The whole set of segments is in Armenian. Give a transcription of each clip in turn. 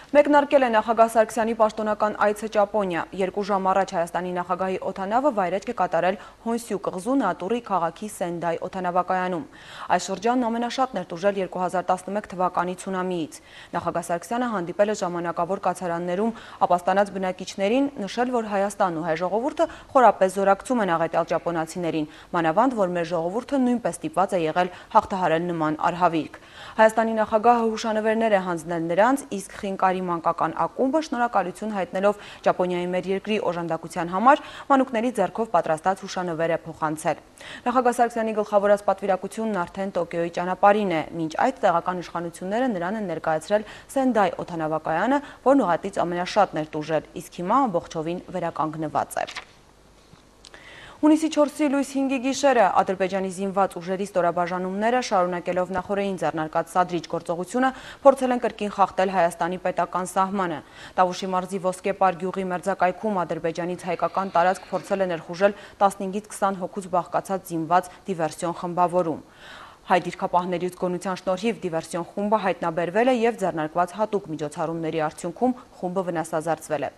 Մեկնարկել է նախագահ Սարգսյանի պաշտոնական այցը Ճապոնիա։ 2 ժամ առաջ Հայաստանի նախագահի օդանավը վայրէջք է կատարել Հոնսյու կղզու Նատուրի քաղաքի Սենդայ օդանավակայանում։ Այս շրջանն ամենաշատն էր տուժել 2011 թվականի ցունամիից։ Նախագահ Սարգսյանը հանդիպել է ժամանակավոր կացարաններում ապաստանած բնակիչներին, նշել, որ Հայաստանն ու հայ ժողովուրդը խորապես զորակցում են աղետյալ ճապոնացիներին, մանավանդ, որ մեր ժողովուրդը նույնպես ստիպված է եղել հաղթահարել նման արհավիրք։ Հայաստանի նախագահը հուշանվերներ է հանձնել նրանց, իսկ Խինկարի մանկական ակումբը շնորհակալություն հայտնելով Ճապոնիայի մեր երկրի օժանդակության համար մանուկների ձեռքով պատրաստած հուշանվեր է փոխանցել։ Նախագահ Սարգսյանի գլխավորած պատվիրակությունն արդեն Տոկիոյի ճանապարհին է, մինչ այդ տեղական իշխանությունները նրան են ներկայացրել Սենդայ օդանավակայանը, որն ուղղատից ամենաշատն էր տուժել, իսկ հիմա ամբողջովին վերականգնված է։ Հունիսի 4-ի լույս 5-ի գիշերը Ադրբեջանի զինված ուժերի ստորաբաժանումները շարունակելով նախորդին ձեռնարկած սադրիչ գործողությունը փորձել են կրկին խախտել Հայաստանի պետական սահմանը։ Տավուշի մարզի Ոսկեպար գյուղի մերձակայքում Ադրբեջանից հայկական տարածք փորձել է ներխուժել 15-ից 20 հոգուց բաղկացած զինված դիվերսիոն խմբավորում։ Հայ դիրքապահների զգոնության շնորհիվ դիվերսիոն խումբը հայտնաբերվել է եւ ձեռնարկված հատուկ միջոցառումների արդյունքում խումբը վնասազերծվել է։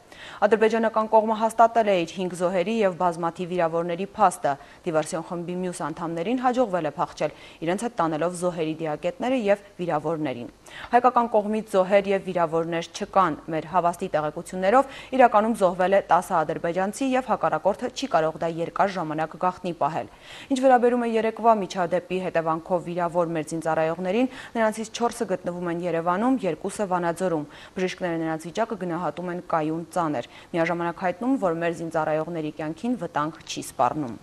Ադրբեջանական կողմը հաստատել է իր 5 զոհերի եւ բազմաթիվ վիրավորների փաստը։ Դիվերսիոն խմբի մյուս անդամներին հաջողվել է փախչել, իրենց հետ տանելով զոհերի դիակետները եւ վիրավորներին։ Հայկական կողմից զոհեր եւ վիրավորներ չկան։ Մեր հավաստի տեղեկություններով իրականում զոհվել է 10 ադրբեջանցի եւ հակառակորդը չի կարող դա երկար ժամանակ գաղտնի պահել։ Ինչ վերաբերում է երեկվա միջադեպի հետևանքով վիրավոր մեր զինծառայողներին, նրանցից 4-ը գտնվում են Երևանում, 2-ը Վանաձորում։ Բժիշկները նրանց վիճակը գնահատում են կայուն ծանր։ Միաժամանակ հայտնում, որ մեր զինծառայողների կյանքին վտանգ չի սպառնում։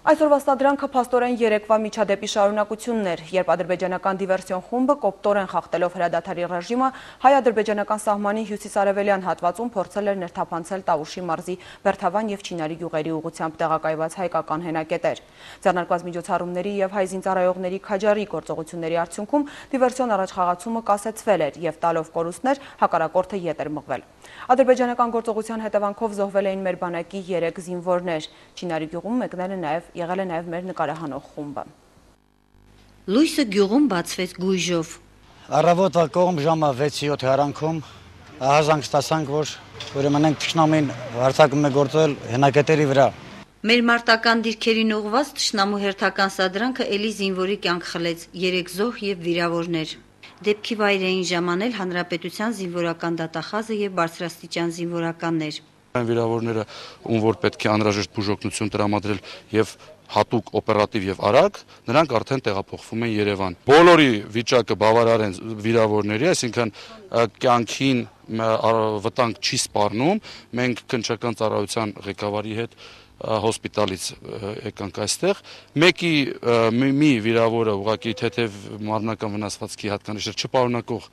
Այսօրվա սադրանքը փաստորեն երեկվա միջադեպի շարունակությունն էր, երբ ադրբեջանական դիվերսիոն խումբը կոպտորեն խախտելով հրադադարի ռեժիմը հայ-ադրբեջանական սահմանի հյուսիսարևելյան հատվածում փորձել էր ներթափանցել Տավուշի մարզի Բերթավան եւ Չինարի գյուղերի ուղղությամբ տեղակայված հայկական հենակետեր։ Ձեռնարկված միջոցառումների եւ հայ զինծառայողների քաջարի գործողությունների արդյունքում դիվերսիոն առաջխաղացումը կասեցվել էր եւ տալով կորուստներ հակառակորդը ետ էր մղվել։ Ադրբեջանական գործողության հետևանքով զոհվել էին մեր բանակի 3 զինվորներ։ Չինարի գյուղում եղել է նաև մեր նկարահանող խումբը։ Լույսը գյուղում բացվեց գույժով։ Առավոտը կողմ ժամը 6-7 հարանքում ահազանգ ստացանք, որ ուրեմն ենք թշնամին հարձակում է գործել հենակետերի վրա։ Մեր մարտական դիրքերին ուղղված թշնամու հերթական սադրանքը էլի զինվորի կյանք խլեց, 3 զոհ եւ վիրավորներ։ Դեպքի վայր էին ժամանել հանրապետության զինվորական դատախազը եւ բարձրաստիճան զինվորականներ։ Այն վիրավորները, ում որ պետք է անհրաժեշտ բուժօգնություն տրամադրել եւ հատուկ օպերատիվ եւ արագ, նրանք արդեն տեղափոխվում են Երևան։ Բոլորի վիճակը բավարար են վիրավորների, այսինքն կյանքին վտանգ չի սպառնում։ Մենք քննչական ծառայության ղեկավարի հետ հոսպիտալից եկանք այստեղ։ Մի վիրավորը ուղղակի թեթև մարմնական վնասվածքի հատկանիշներ չպարունակող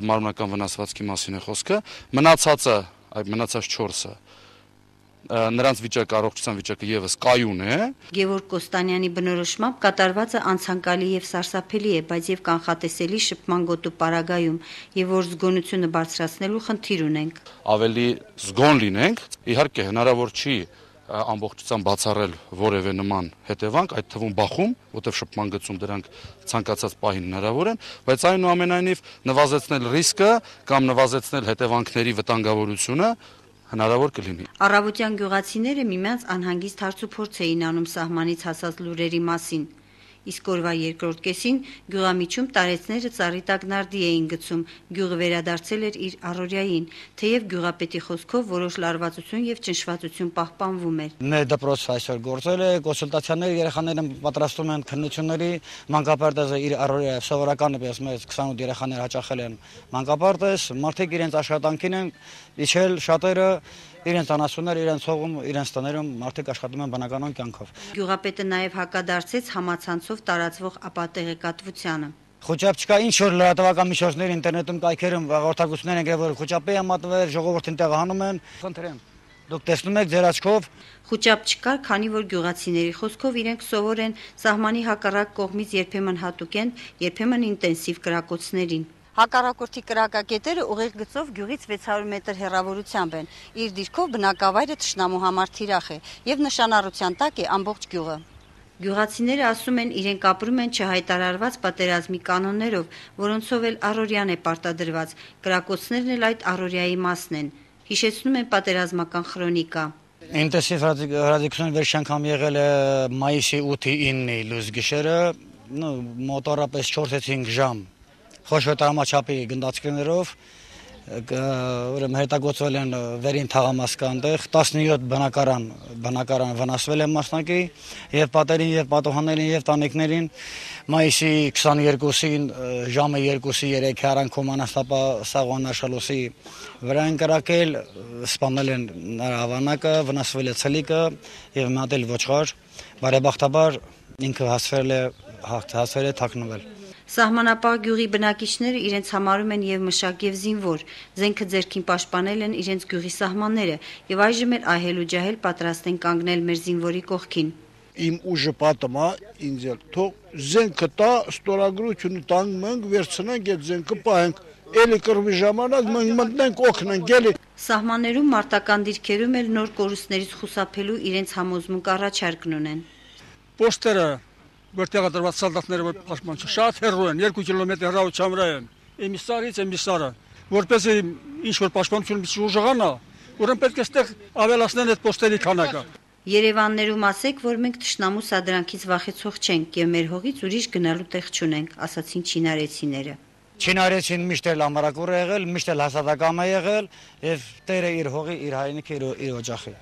մարմնական վնասվածքի մասին է խոսքը, մնացած 4-ը նրանց առողջության վիճակը եւս կայուն է։ Գևորգ Կոստանյանի բնորոշմամբ կատարվածը անցանկալի եւ սարսափելի է, բայց եւ կանխատեսելի շփման գոտու պարագայում, եւ որ զգոնությունը բարձրացնելու խնդիր ունենք։ Ավելի զգոն լինենք, իհարկե հնարավոր չի ամբողջությամբ բացառել որևէ նման հետևանք, այդ թվում բախում, որտեղ շփման գծում դրանք ցանկացած պահին հնարավոր են, բայց այնուամենայնիվ նվազեցնել ռիսկը կամ նվազեցնել հետևանքների վտանգավորությունը հնարավոր կլինի։ Առավոտյան գյուղացիները միմյանց անհանգիստ հարցուփորձ էին անում սահմանից հասած լուրերի մասին։ Իսկ օրվա երկրորդ կեսին գյուղամիջում տարեցները ծառի տակ նարդի էին գցում, գյուղը վերադարձել էր իր առօրյային, թեև գյուղապետի խոսքով որոշ լարվածություն եւ ճնշվածություն պահպանվում էր։ Մեր դպրոցը այսօր գործել է, կոնսուլտացիաները երեխաները պատրաստում են քննությունների, մանկապարտեզը իր առօրյա սովորական պես մեծ 28 երեխաներ հաճախել են մանկապարտեզ, մարդիկ իրենց աշխատանքին են իջել, շատերը իրենց անասուններ, իրենց հողում, իրենց տներում մարդիկ աշխատում են բնականon կյանքով։ Գյուղապետը նաև հակադարձեց համացանցով տարածվող ապատեղեկատվությանը։ Խոճապ չկա, ինչ որ լրատվական միջոցներ ինտերնետում կայքերում հաղորդակցություններ են գրել, որ խոճապի է մատվել, ժողովրդին տեղահանում են, խնդրեմ։ Դուք տեսնում եք ձեր աչքով։ Խոճապ չկար, քանի որ գյուղացիների խոսքով իրենք սովոր են սահմանի հակառակ կողմից երբեմն հատուկեն, երբեմն ինտենսիվ կրակոցներին։ Հակառակորդի կրակակետերը ուղիղ գծով գյուղից 600 մետր հեռավորությամբ են։ Իր դիրքով բնակավայրը թշնամու համար թիրախ է եւ նշանառության տակ է ամբողջ գյուղը։ Գյուղացիները ասում են, իրենք ապրում են չհայտարարված պատերազմի կանոններով, որոնցով էլ առօրյան է պարտադրված, կրակոցներն էլ այդ առօրյայի մասն են, հիշեցնում են պատերազմական խրոնիկա։ Ինտենսիվ հրադիկություն վերջին անգամ եղել է մայիսի 8-9-ի լույս գիշերը, մոտորապես 4-5 ժամ խոշոր տրամաչափի գնդացքներով հետագործվել են վերին թաղամասկան տեղ, 17 բնակարան վնասվել են մասնակի եւ պատերին եւ պատուհաններին եւ տանիքներին մայիսի 22-ին ժամը 2-ի 3-ի արանքում անաստապա Սաղոն Աշալոսի վրա են կրակել, սպանել են նրա ավանակը, վնասվել է ցելիկը եւ մի հատ էլ ոչխար, բարեբախտաբար ինքը հասցրել է թաքնվել։ Սահմանապահ գյուղի բնակիչները իրենց համարում են եւ մշակ եւ զինվոր, զենքը ձեռքին պաշտպանել են իրենց գյուղի սահմանները եւ այժմ էլ ահել ու ջահել պատրաստ են կանգնել մեր զինվորի կողքին։ Իմ ուժը պատմա ինձ էլ թող զենքը տա, ստորագրությունը տանք մենք վերցնենք այդ զենքը պահենք, էլի կռվի ժամանակ մենք մտնենք օգնենք էլի։ Սահմաններում մարտական դիրքերում էլ նոր կորուստներից խուսափելու իրենց համոզմունք առաջարկն ունեն։ Պոստերը որտեղ դրված սալդատները պաշտպան շատ հեռու են 2 կիլոմետր հեռավորության վրա են էմիսարը որպեսզի ինչ որ պաշտպանություն ուժեղանա ուրեմն պետք է այդտեղ ավելացնեն այդ պոստերի քանակը Երևաններում ասեք, որ մենք թշնամու սադրանքից վախեցող չենք եւ մեր հողից ուրիշ գնալու տեղ չունենք, ասացին չինարեցիները։ Չինարեցին միշտ էլ ամրակուր է եղել, միշտ էլ հաստատակամ է եղել եւ տերը իր հողի, իր հայրենիքի, իր օջախի։